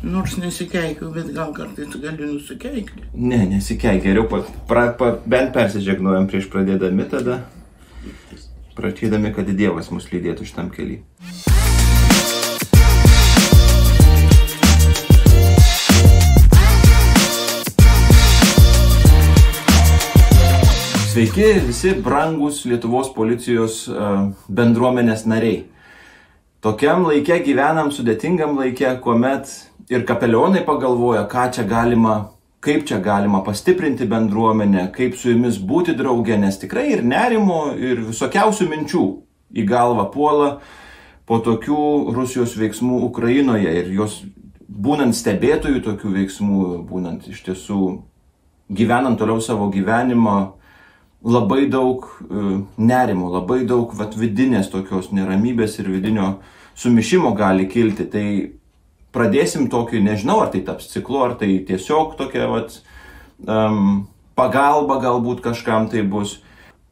Nors nesikeikiu, bet gal kartais gali nusikeikti. Ne, nesikeikia. Geriau bent persižegnuojam prieš pradėdami tada, prašydami, kad Dievas mus lydėtų šitam keliui. Sveiki visi brangūs Lietuvos policijos bendruomenės nariai. Tokiam laike gyvenam, sudėtingam laike, kuomet ir kapelionai pagalvoja, kaip čia galima pastiprinti bendruomenę, kaip su jumis būti drauge, nes tikrai ir nerimo, ir visokiausių minčių į galvą puola po tokių Rusijos veiksmų Ukrainoje ir jos būnant stebėtojų tokių veiksmų, būnant iš tiesų gyvenant toliau savo gyvenimą, labai daug nerimo, labai daug vidinės tokios neramybės ir vidinio sumišimo gali kilti. Tai pradėsim tokį, nežinau, ar tai taps ciklu, ar tai tiesiog tokia pagalba galbūt kažkam tai bus.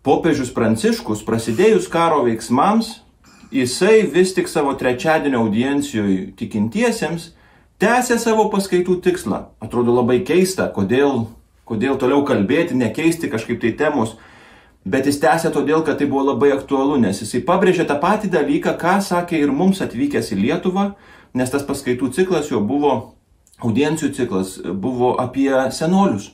Popiežius Pranciškus, prasidėjus karo veiksmams, jisai vis tik savo trečiadienio audiencijoje tikintiesiems tęsė savo paskaitų tikslą. Atrodo labai keista, kodėl toliau kalbėti, nekeisti kažkaip tai temos, bet jis tęsė todėl, kad tai buvo labai aktualu, nes jisai pabrėžė tą patį dalyką, ką sakė ir mums atvykęs į Lietuvą, nes tas paskaitų ciklas jo buvo, audiencijų ciklas, buvo apie senolius.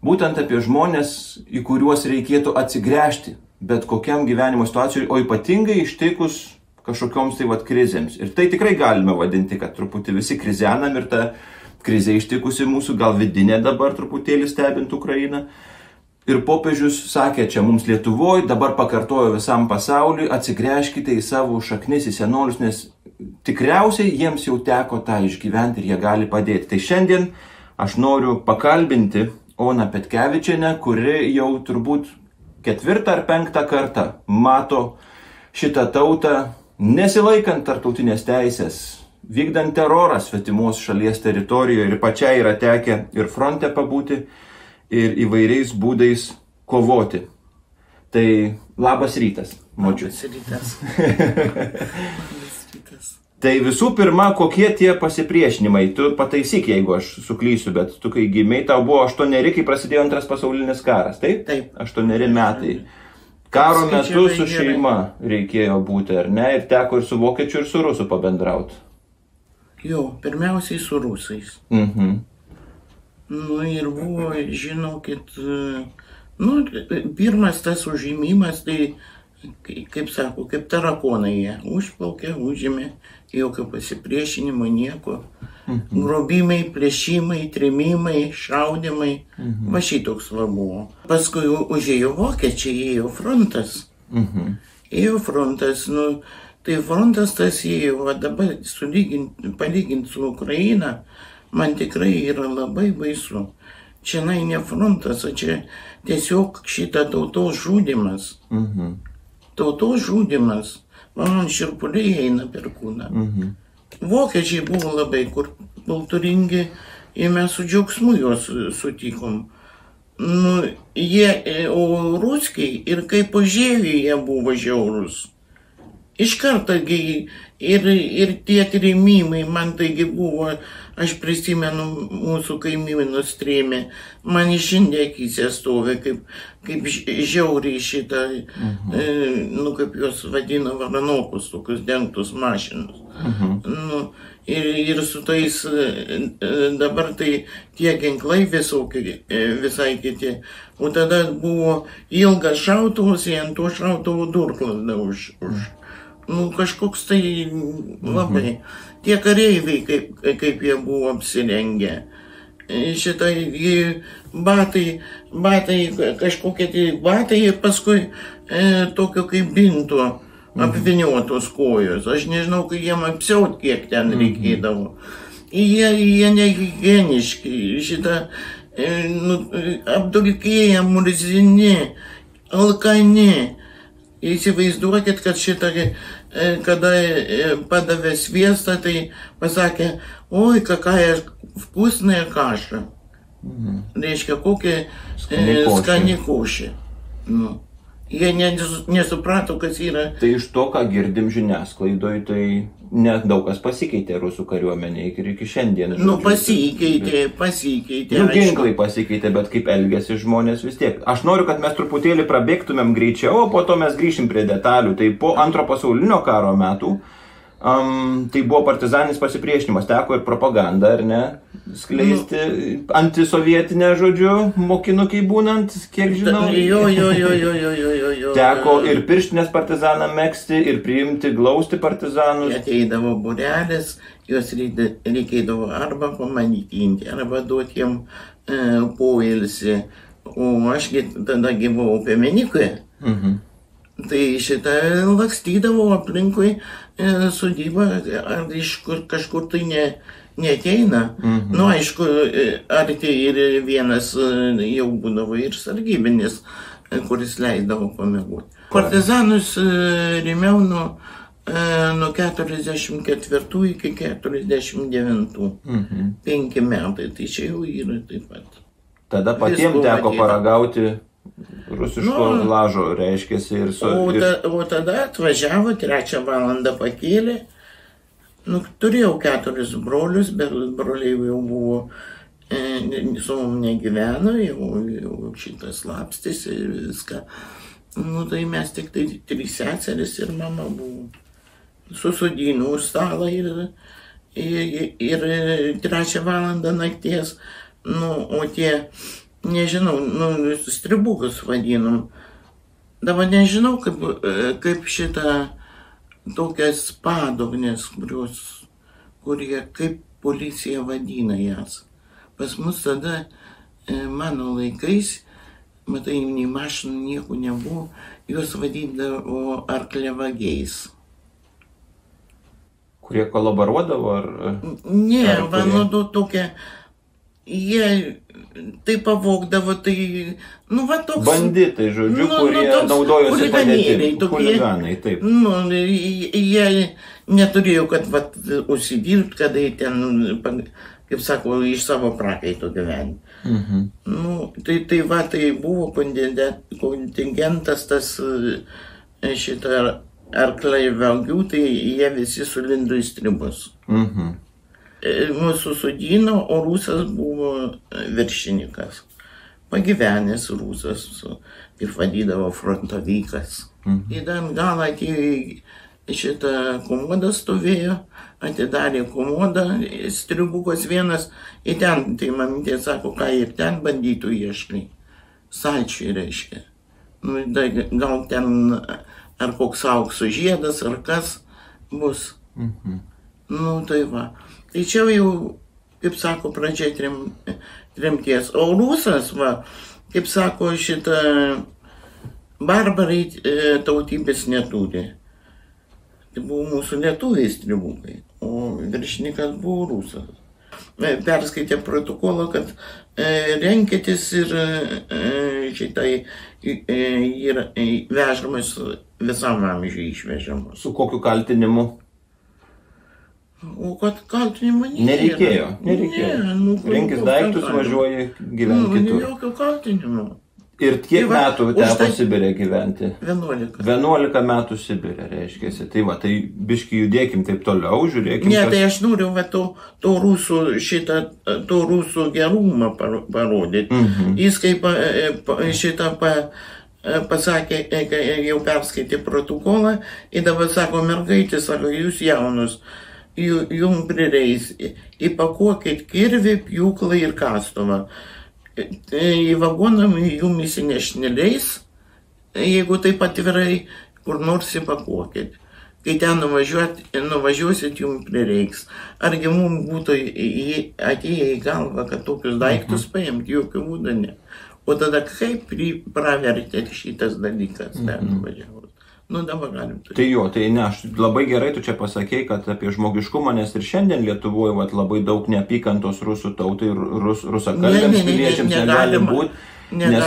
Būtent apie žmonės, į kuriuos reikėtų atsigręžti, bet kokiam gyvenimo situacijai, o ypatingai ištikus kažkokioms tai krizėms. Ir tai tikrai galime vadinti, kad truputį visi krizenam ir ta krizė ištikusi mūsų, gal vidinė dabar truputėlį stebint Ukrainą. Ir popiežius sakė čia mums Lietuvoje, dabar pakartojo visam pasauliui, atsigręžkite į savo šaknis, į senolius, nes tikriausiai jiems jau teko tą išgyventi ir jie gali padėti. Tai šiandien aš noriu pakalbinti Oną Petkevičienę, kuri jau turbūt 4. ar 5. kartą mato šitą tautą nesilaikant tarptautinės teisės, vykdant terorą svetimos šalies teritorijoje, ir pačiai yra tekę ir fronte pabūti, ir įvairiais būdais kovoti. Tai labas rytas, močiut. Labas rytas. Tai visų pirma, kokie tie pasipriešinimai? Tu pataisyk, jeigu aš suklysiu, bet tu kai gimei, tau buvo 8, kai prasidėjo Antras pasaulinis karas, taip? Taip. 8 metai. Karo metu su šeima reikėjo būti, ar ne? Ir teko ir su vokiečiu, ir su rusu pabendrauti. Jo, pirmiausiai su rusais. Nu ir buvo, žinokit, pirmas tas užėmimas, tai, kaip sako, kaip tarakonai jie užplaukė, užėmė, jokio pasipriešinimo, nieko. Grobimai, plėšimai, trėmimai, šaudimai, va šitoks va buvo. Paskui užėjo vokiečiai, ėjo frontas. Ėjo frontas, tai frontas tas ėjo, va dabar palyginti su Ukraina, man tikrai yra labai baisu. Čia ne frontas, o čia tiesiog šitą tautos žudymas. Tautos žudymas. Man širpuliai eina per kūną. Vokiečiai buvo labai kultūringi ir mes su džiaugsmu juos sutikom. O ruskiai ir kaip užėjo jie buvo žiaurus. Iš karto ir tie trėmimai, man taigi buvo, aš prisimenu mūsų kaimynus trėmė, man išindė akyse stovi, kaip žiauriai šitą, kaip juos vadina varanokus, tokius dengtus mašinus. Ir su tais, dabar tai tie ginklai visai kiti, o tada buvo ilgas šautuvas, ant to šautuvo durklas už. Kažkoks tai labai. Tie kareiviai, kaip jie buvo apsirengę. Šitai batai, kažkokie tai batai ir paskui tokio kaip binto apviniotos kojos. Aš nežinau, kai jiem apsiaut, kiek ten reikėdavo. Jie nehigieniški, šitą apdulkėję, murzini, alkani. Įsivaizduokit, kad šitą, kada padavė sviestą, tai pasakė, oi, kakая vkusная kaša. Reiškia, kokia skani košė. Jie nesuprato, kas yra. Tai iš to, ką girdim žiniasklaidoje, tai nedaug kas pasikeitė rusų kariuomenė iki šiandien. Pasikeitė. Ginklai pasikeitė, bet kaip elgėsi žmonės vis tiek. Aš noriu, kad mes truputėlį prabėgtumėm greičiau, o po to mes grįšim prie detalių. Tai po Antro pasaulinio karo metų tai buvo partizaninis pasipriešinimas, teko ir propaganda, ar ne, skleisti antisovietinę, žodžiu, mokinukai būnant, kiek žinau. Jo. Teko ir pirštinės partizaną megzti, ir priimti, glausti partizanus. Ateidavo būrelis, juos reikėdavo arba pamaitinti, arba duoti jiem poilsį. O ašgi tada buvau Piemenikoje. Tai šitą lakstydavo aplinkui sodybą, ar iš kažkur tai neateina. Nu, aišku, arti ir vienas jau būdavo ir sargybinis, kuris leisdavo pamiegoti. Partizanus rėmiau nuo 44 iki 49. 5 metai, tai čia jau yra taip pat. Tada patiems teko paragauti rusiško lažo, reiškėsi ir O tada atvažiavo, 3 valandą pakėlė. Turėjau 4 brolius, bet broliai jau buvo, su mum negyveno, jau šitas slapstėsi ir viską. Tai mes tik tai 3 seseris ir mama buvo. Susodino už stalą ir 3 valandą nakties, o tie, nežinau, stribukus vadinom. Dabar nežinau, kaip šitą tokias padognės, kurie kaip policija vadina jas. Pas mus tada, mano laikais, matai, nei mašinų nieko nebuvo, juos vadindavo arkliavagiais. Kurie kolaboruodavo, ar? Ne, tokia, jie tai pavogdavo, tai, toks... Banditai, žodžiu, kurie naudojosi padėtimi. Chuliganai, taip. Jie neturėjo, kad užsidirbti, kada jie ten, kaip sako, iš savo prakaito gyventi. Tai buvo kontingentas tas šitą arklaivagių, tai jie visi sulindo į stribus. Mūsų sodino, o rusas buvo viršininkas. Pagyvenęs rusas, kaip vadydavo, frontavykas. Į galą atėjo šitą komodą stovėjo, atidarė komodą, stribukas vienas, į ten, tai mamytė sako, ką ir ten bandytų ieškai. Salčiai reiškia. Gal ten ar koks aukso žiedas, ar kas bus. Tai va. Tai čia jau, kaip sako, pradžia tremties. O rusas, kaip sako, šitą barbarai tautybės neturi. Tai buvo mūsų lietuviai stribukai, o viršininkas buvo rusas. Perskaitė protokolą, kad renkėtis ir šitai yra vežamas visam amžiui išvežamas. Su kokiu kaltinimu? O kad kaltinimo nereikėjo. Rinkis daiktus, važiuoji gyventi kitur. Jokio kaltinimo. Ir kiek metų teko Sibire gyventi? 11. 11 metų Sibire, reiškėsi. Tai tai biškį judėkim taip toliau, žiūrėkim. Ne, tai aš noriu to rusų gerumą parodyti. Jis kaip šitą pasakė, jau perskaitė protokolą, ir dabar sako, mergaitė, sako, jūs jaunus, jums prireis, įpakuokit kirvį, pjūklą ir kastuvą. Į vagoną jums įsineš neleis, jeigu taip atvirai, kur nors įpakuokit. Kai ten nuvažiuosit, jums prireiks. Argi mums būtų atėję į galvą, kad tokius daiktus paimti, jokių būdų ne. O tada kaip pravertė šitas dalykas ten nuvažiavus. Dabar galim turėti. Tai jo, tai ne, aš labai gerai tu čia pasakei, kad apie žmogiškumą, nes ir šiandien Lietuvoje labai daug neapykantos rusų tautai, rusakalbėms piliečiams negali būti, nes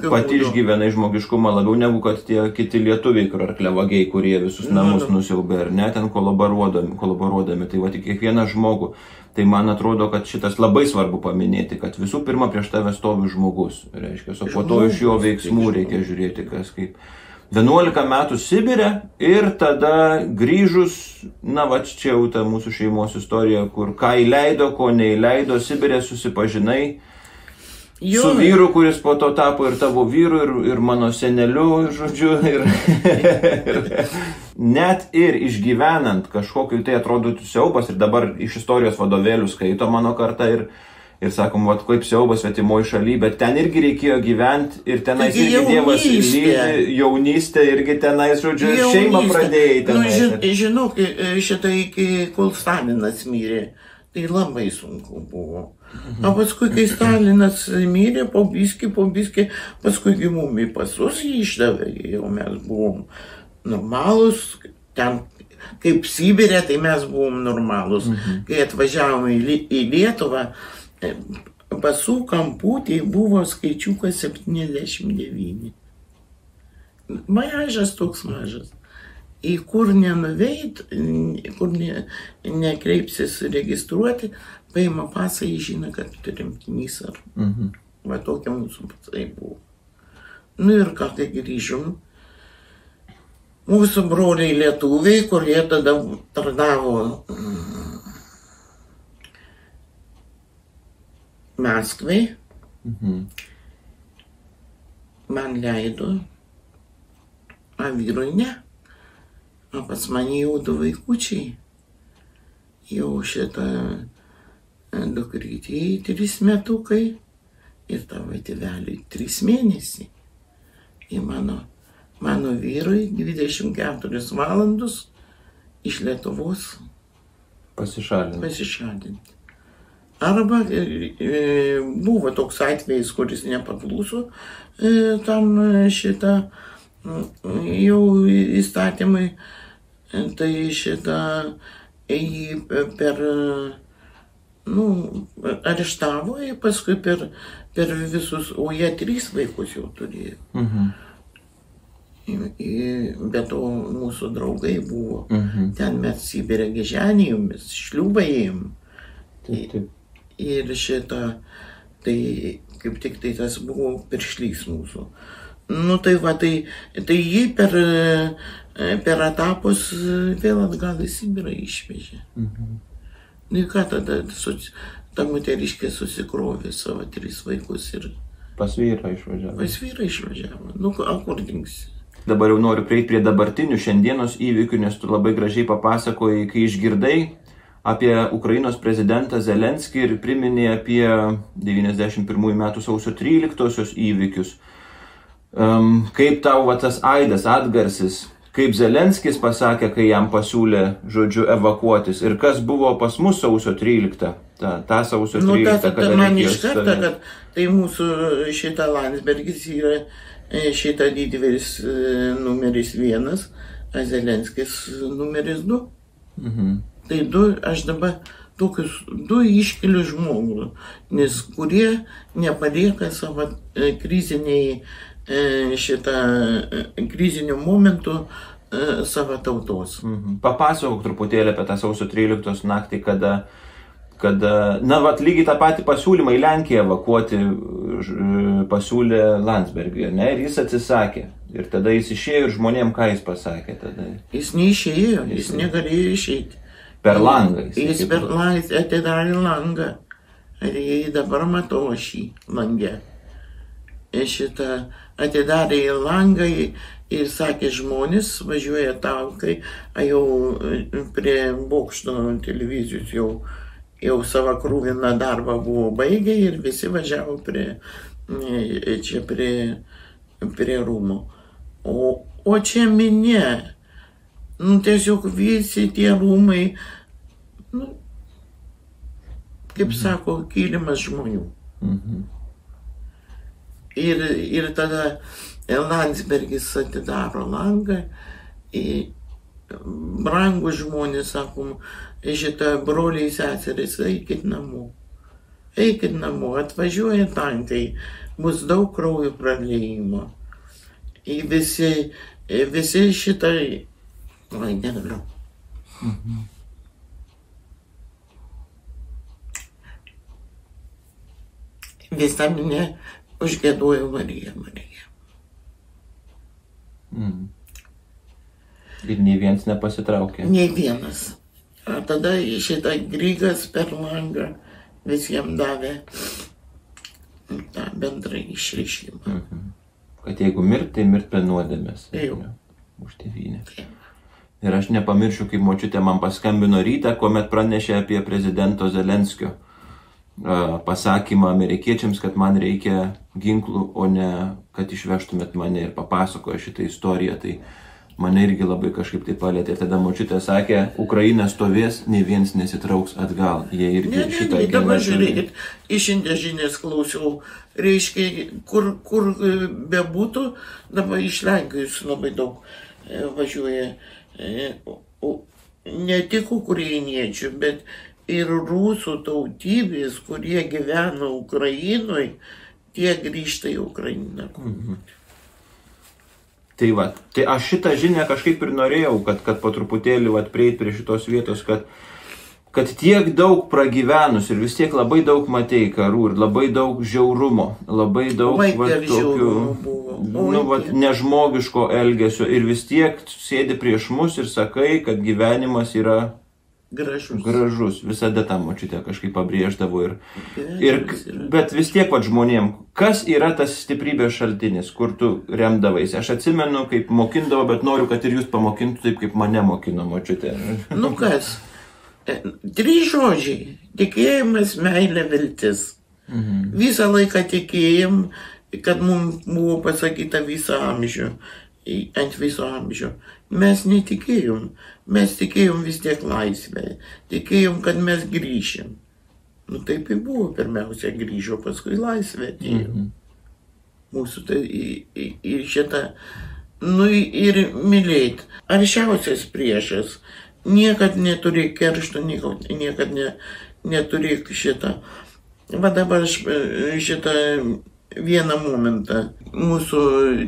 pati išgyvenai žmogiškumą labiau negu kad tie kiti lietuviai, kur arkliavagiai, kurie visus namus nusiaubė, ar ne, ten kolaboruodami, tai tik kiekvieną žmogų. Tai man atrodo, kad šitas labai svarbu paminėti, kad visų pirma prieš tave stovi žmogus, reiškia, o po to iš jo veiksmų reikia žiūrėti, kas kaip. 11 metų Sibire ir tada grįžus, va čia jau ta mūsų šeimos istorija, kur ką įleido, ko neįleido, Sibire susipažinai su vyru, kuris po to tapo ir tavo vyru, ir mano seneliu, žodžiu, ir net ir išgyvenant kažkokiu tai atrodytų siaubas, ir dabar iš istorijos vadovėlių skaito mano karta ir sakom, kaip siaubas svetimoje šalyje, bet ten irgi reikėjo gyventi ir tenais irgi Dievas lydi, jaunystė irgi tenais, žodžiu, ir šeimą pradėjai tenais. Žinok, šitą iki kol Stalinas mirė, tai labai sunku buvo. O paskui, kai Stalinas mirė, po biskį, paskui gimumi pasus jį išdavė, jau mes buvom normalus, ten kaip Sibirė, tai mes buvom normalus. Kai atvažiavome į Lietuvą, pasų kamputėje buvo skaičiukas 79. Mažas toks mažas. Į kur nenuveit, kur nekreipsis registruoti, paima pasą, jis žino, kad tremtinys ar. Va tokia mūsų pasai buvo. Nu ir ką tai grįžom. Mūsų broliai lietuviai, kurie tada tarnavo Maskvai, man leido, o vyrui ne. O pas mane jau 2 vaikučiai. Jau šitą dukrytėjai 3 metukai ir tavo tėveliui 3 mėnesiai. Ir mano vyrui 24 valandos iš Lietuvos pasišalinti. Arba buvo toks atvejis, kuris nepakluso tam šitą jau įstatymai, tai šitą jį areštavo ir paskui per visus, o jie 3 vaikus jau turėjo. Bet to mūsų draugai buvo, ten mes Sibirę gyženėjomis, šliūbą ėjom. Ir šitą, tai kaip tik tai tas buvo piršlys mūsų. Nu tai va, tai jį per etapus vėl atgal į Sibirą išvežė. Nu ką tada, ta moteriškė susikrovė savo 3 vaikus ir... Pas vyrą išvažiavo. Pas vyrą išvažiavo. Nu, kur dingsi? Dabar jau noriu prieiti prie dabartinių šiandienos įvykių, nes tu labai gražiai papasakojai, kai išgirdai apie Ukrainos prezidentą Zelenskį ir priminė apie 91 metų sausio 13-osios įvykius. Kaip tau tas aidas, atgarsis, kaip Zelenskis pasakė, kai jam pasiūlė, žodžiu, evakuotis ir kas buvo pas mus sausio 13, ta sausio 13, kada man iš karto, kad tai mūsų šita Landsbergis yra šita didvyris numeris 1, o Zelenskis numeris 2. Tai aš dabar tokius 2 iškeliu žmogų, nes kurie nepalieka savo krizinių momentų savo tautos. Papasakok truputėlį apie tą sausio 13 naktį, kada lygiai tą patį pasiūlymą į Lenkiją evakuoti pasiūlė Landsbergiui, ne? Ir jis atsisakė. Ir tada jis išėjo ir žmonėm ką jis pasakė tada? Jis neišėjo, jis negalėjo išeiti. Per langą. Jis per langą atidarė langą. Ir dabar matau aš jį langę. Šitą atidarė į langą ir sakė, žmonės važiuoja tankai, jau prie bokšto televizijos jau savo krūviną darbą buvo baigę ir visi važiavo prie rūmų. O čia minė. Tiesiog visi tie rūmai, kaip sako, kilimas žmonių. Ir tada Landsbergis atidaro langą, brangų žmonės, sakom, šitą broliai seserys, eikit namo, atvažiuoja tankai, bus daug kraujo praliejimo. Visi šitai, negaliu. Visa minė užgiedojo Marija, Marija. Ir nei vienas nepasitraukė. Nei vienas. O tada šitą Grygas per langą visiems davė tą bendrą išreiškimą. Kad jeigu mirt, tai mirt be nuodėmės. Jau. Už tėvynę. Ir aš nepamiršiu, kaip močiutė man paskambino rytą, kuomet pranešė apie prezidento Zelenskio pasakymą amerikiečiams, kad man reikia ginklų, o ne kad išvežtumėt mane, ir papasakojo šitą istoriją. Tai mane irgi labai kažkaip tai palėtė. Ir tada močiutė sakė, Ukraina stovės, nei vienas nesitrauks atgal. Jie irgi šitą gina. Dabar žiūrėkit, išindė žinias klausiau. Reiškia, kur bebūtų, dabar iš Lenkijos labai daug važiuoja. Ne tik ukrainiečių, bet ir rusų tautybės, kurie gyvena Ukrainoje, tie grįžta į Ukrainą. Tai va, tai aš šitą žinią kažkaip ir norėjau, kad po truputėlį prieit prie šitos vietos, kad tiek daug pragyvenus ir vis tiek labai daug matei karų ir labai daug žiaurumo, labai daug tokių nežmogiško elgesio ir vis tiek sėdi prieš mus ir sakai, kad gyvenimas yra gražus. Visada tą močiutę kažkaip pabrėždavo bet vis tiek žmonėm, kas yra tas stiprybės šaltinis, kur tu remdavaisi? Aš atsimenu, kaip mokindavo, bet noriu, kad ir jūs pamokintų taip, kaip mane mokino močiutė. Nu kas? 3 žodžiai. Tikėjimas, meilė, viltis. Visą laiką tikėjom, kad mums buvo pasakyta visą amžių, ant viso amžių. Mes netikėjom. Mes tikėjom vis tiek laisvę. Tikėjom, kad mes grįšim. Nu taip ir buvo. Pirmiausia grįžo, paskui laisvę atėjo. Mūsų tai ir šitą. Nu ir mylėt. Aršiausias priešas. Niekad neturėk keršto, niekad neturėk šitą. Va dabar šitą vieną momentą. Mūsų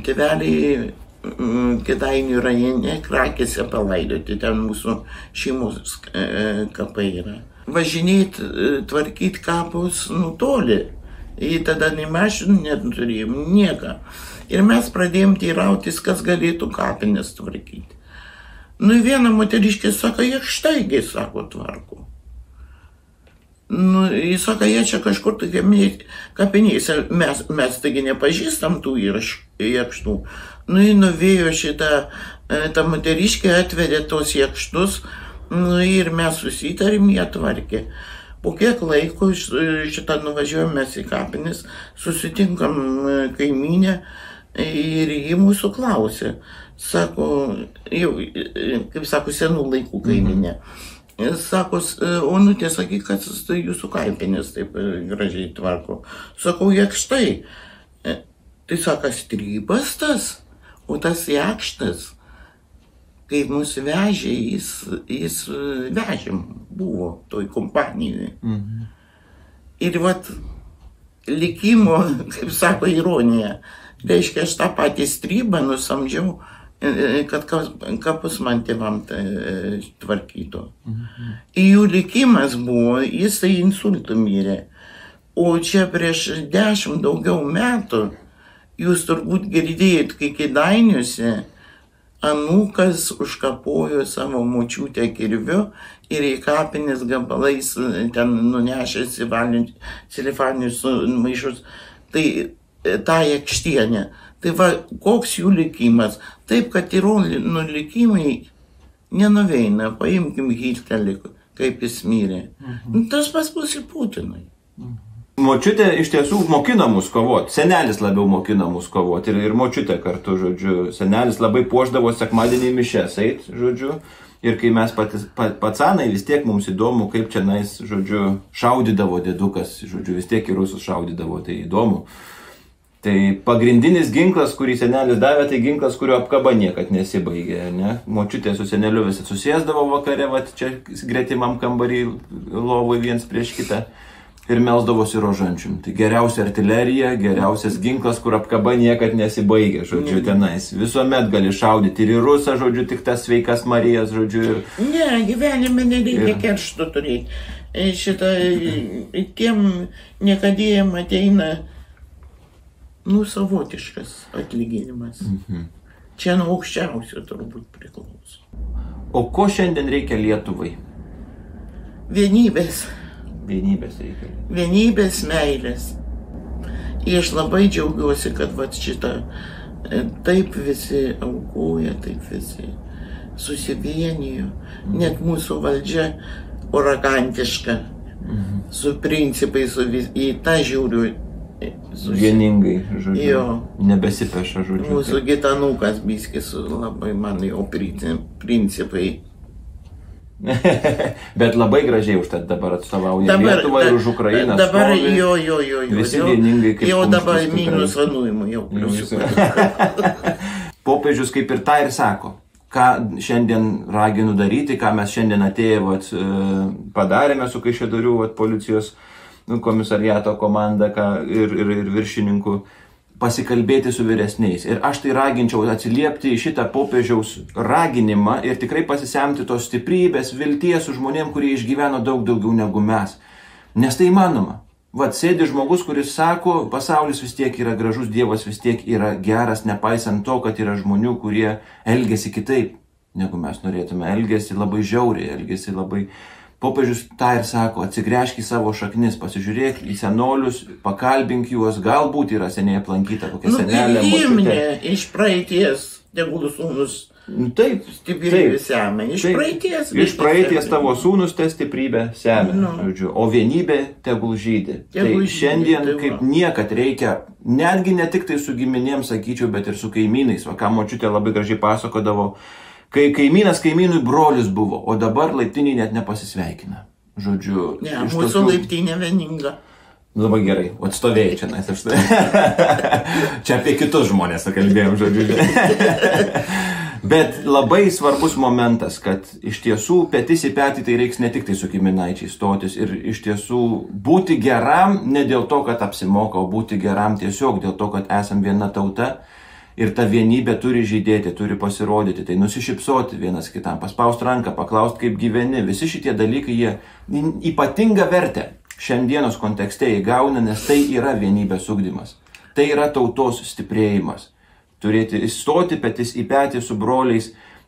tėveliai Kėdainių rajone Krakėse palaidoti, ten mūsų šeimos kapai yra. Važinėt, tvarkyt kapus nutoli. Jį tada nei mašinų neturėjom, nieką. Ir mes pradėjom teirautis, kas galėtų kapines tvarkyti. Nu, viena moteriškė sako, jie štaigi, sako, tvarko. Nu, jis sako, jie čia kažkur tai kapinėse, mes taigi nepažįstam tų jakštų. Nu, jį nuvėjo šitą, ta moteriškė atvedė tos jakštus, nu, ir mes susitarim, jie tvarkė. Po kiek laiko šitą nuvažiuojam mes į kapinis, susitinkam kaimynę ir jį mūsų klausė. Sako, jau, kaip sako, senų laikų kaiminė. Sako, Onutė, sakyk, kad jūsų kapinės taip gražiai tvarko. Sakau, jakštai. Tai sako, strybas tas, o tas jakštas, kai mus vežė, jis vežėm, buvo toj kompanijoje. Ir vat likimo, kaip sako, ironija. Reiškia, aš tą patį strybą nusamdžiau, kad kapus man tėvam tvarkytų. Jų likimas buvo, jis tai insultų mirė. O čia prieš 10 daugiau metų, jūs turbūt girdėjot, kai Kėdainiuose anūkas užkapojo savo močiutę kirviu ir į kapines gabalais ten nunešęs silifaninius maišus. Tai tą jakštienę. Tai va, koks jų likimas. Taip, kad Tirolų likimai nenuveina. Paimkim Hitlerį, kaip jis mirė. Tas pas bus ir Putinui. Močiutė iš tiesų mokina mus kovoti. Senelis labiau mokina mus kovoti. Ir močiutė kartu, žodžiu. Senelis labai puošdavo sekmadienį mišes eit, žodžiu. Ir kai mes pacanai, vis tiek mums įdomu, kaip čia nais, žodžiu, šaudydavo dėdukas, žodžiu, vis tiek ir rusus šaudydavo, tai įdomu. Tai pagrindinis ginklas, kurį senelis davė, tai ginklas, kurio apkaba niekad nesibaigė, ne? Močiutė su seneliu visi susėsdavo vakare, va čia gretimam kambarį lovui viens prieš kitą ir melsdavosi rožančium. Tai geriausia artilerija, geriausias ginklas, kur apkaba niekad nesibaigė, žodžiu, tenais. Visuomet gali šaudyti ir į rusą, žodžiu, tik tas sveikas Marijas, žodžiu. Ne, gyvenime nereikia keršto turėti. Šitą, tiem niekadėjim ateina, nu, savotiškas atlyginimas. Čia nuo aukščiausio turbūt priklauso. O ko šiandien reikia Lietuvai? Vienybės. Vienybės reikia. Vienybės, meilės. Ir aš labai džiaugiuosi, kad vat šitą taip visi aukoja, taip visi susivienijo. Net mūsų valdžia uragantiška, su principais, į tą žiūriu. Vieningai, žodžiu. Jo. Nebesipeša, žodžiu. Mūsų gitanukas biskis labai man jau principai. Bet labai gražiai užtat dabar atstovauja Lietuvą ir už Ukrainą. Dabar stovi. Jo. Visi vieningai kaip jau dabar kumštis minus tikrai. vanuojimų jau. Popiežius kaip ir tą ir sako. Ką šiandien raginu daryti, ką mes šiandien atėję padarėme su Kaišiadorių policijos komisariato komanda ir viršininku, pasikalbėti su vyresniais. Ir aš tai raginčiau atsiliepti į šitą popiežiaus raginimą ir tikrai pasisemti tos stiprybės, vilties su žmonėm, kurie išgyveno daug daugiau negu mes. Nes tai įmanoma. Vat sėdi žmogus, kuris sako, pasaulis vis tiek yra gražus, Dievas vis tiek yra geras, nepaisant to, kad yra žmonių, kurie elgesi kitaip, negu mes norėtume. Elgesi labai žiauriai, elgesi labai... Popiežius tą ir sako, atsigręžk į savo šaknis, pasižiūrėk į senolius, pakalbink juos, galbūt yra seniai aplankyta kokia senelė. Imne iš praeities, tegul sūnus Taip, stiprybė semia. Iš praeities tavo sūnus te stiprybę semia, žodžiu, o vienybė tegul žydi. Tai šiandien kaip niekad reikia, netgi ne tik tai su giminėm, sakyčiau, bet ir su kaimynais. Va, ką močiutė labai gražiai pasakodavo, kai kaimynas kaimynui brolius buvo, o dabar laiptiniai net nepasisveikina. Žodžiu, ne, mūsų laiptinė vieninga. Labai gerai, atstovėjai čia, nes aš čia apie kitus žmonės kalbėjom, žodžiu. Bet labai svarbus momentas, kad iš tiesų petis į petį tai reiks ne tik tai su giminaičiai stotis ir iš tiesų būti geram ne dėl to, kad apsimoka, o būti geram tiesiog dėl to, kad esam viena tauta ir ta vienybė turi žydėti, turi pasirodyti, tai nusišypsoti vienas kitam, paspausti ranką, paklausti, kaip gyveni. Visi šitie dalykai, jie ypatingą vertę šiandienos kontekste įgauna, nes tai yra vienybės ugdymas. Tai yra tautos stiprėjimas. Turėti įstoti petis į petį su broliais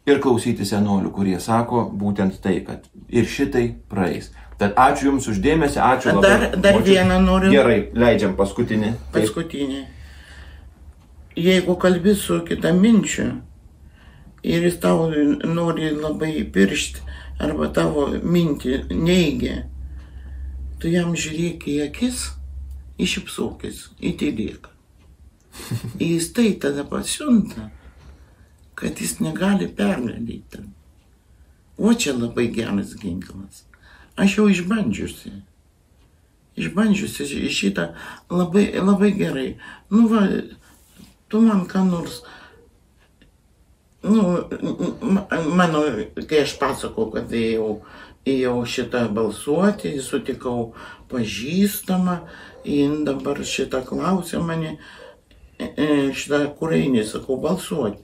ir klausyti senolių, kurie sako būtent tai, kad ir šitai praeis. Tad ačiū Jums uždėmesi, ačiū labai. Dar vieną noriu. Gerai, leidžiam paskutinį. Paskutinį. Jeigu kalbi su kitaminčiu ir jis tau nori labai piršti arba tavo mintį neigia, tu jam žiūrėk į akis, iššypsokis, įtylėk. Jis tai tada pasiunta, kad jis negali pergalyti. O čia labai geras ginklas. Aš jau išbandžiusi šitą labai gerai. Nu va, tu man ką nors, mano, kai aš pasakau, kad ėjau šitą balsuoti, sutikau pažįstamą, jin dabar šitą klausė mane, šitą kur eini, sakau, balsuoti.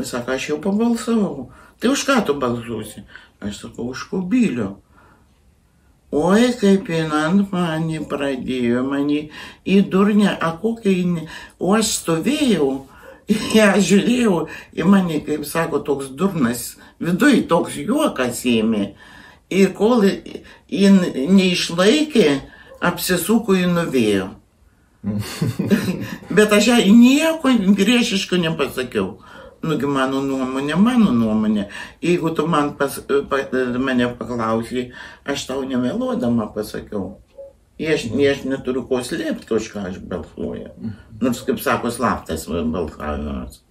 Sako, aš jau pabalsavau. Tai už ką tu balsuosi? Aš sakau, už Kubilių. Oi, kaip jinant mane pradėjo, mane į durnę, kokia jinai, o aš stovėjau, ją žiūrėjau, į mane, kaip sako, toks durnas, viduj toks juokas ėmė. Ir kol jin neišlaikė, apsisuko į nuvėjo. Bet aš jai nieko priešiško nepasakiau. Nugi mano nuomonė. Jeigu tu mane paklausai, aš tau nemeluodama pasakiau. Aš neturiu ko slėpti, už ką aš balsuoju. Nors, kaip sako, slaptas balsavimas.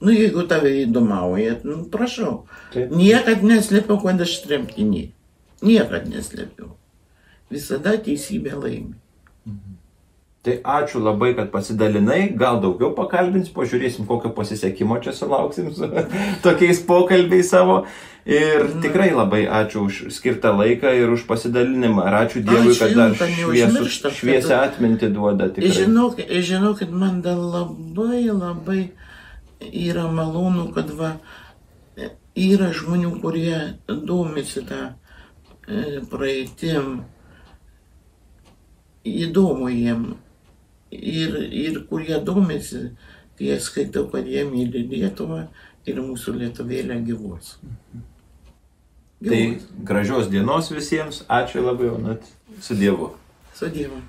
Jeigu tave įdomauja, prašau. Niekad neslėpiau, kad aš tremtinį. Niekad neslėpiau. Visada teisybė laimi. Tai ačiū labai, kad pasidalinai, gal daugiau pakalbins, pažiūrėsim, kokio pasisekimo čia sulauksim su tokiais pokalbiais savo. Ir tikrai labai ačiū už skirtą laiką ir už pasidalinimą. Ir ačiū Dievui, kad dar šviesią atmintį duoda. Žinokit, man dar labai yra malonu, kad yra žmonių, kurie domisi tą praeitim. Įdomu jiem. Ir kurie domisi Tai aš skaitau, kad jie myli Lietuvą ir mūsų Lietuvėlė gyvos. Tai gražios dienos visiems. Ačiū labai, Onut. Su Dievu. Su Dievu.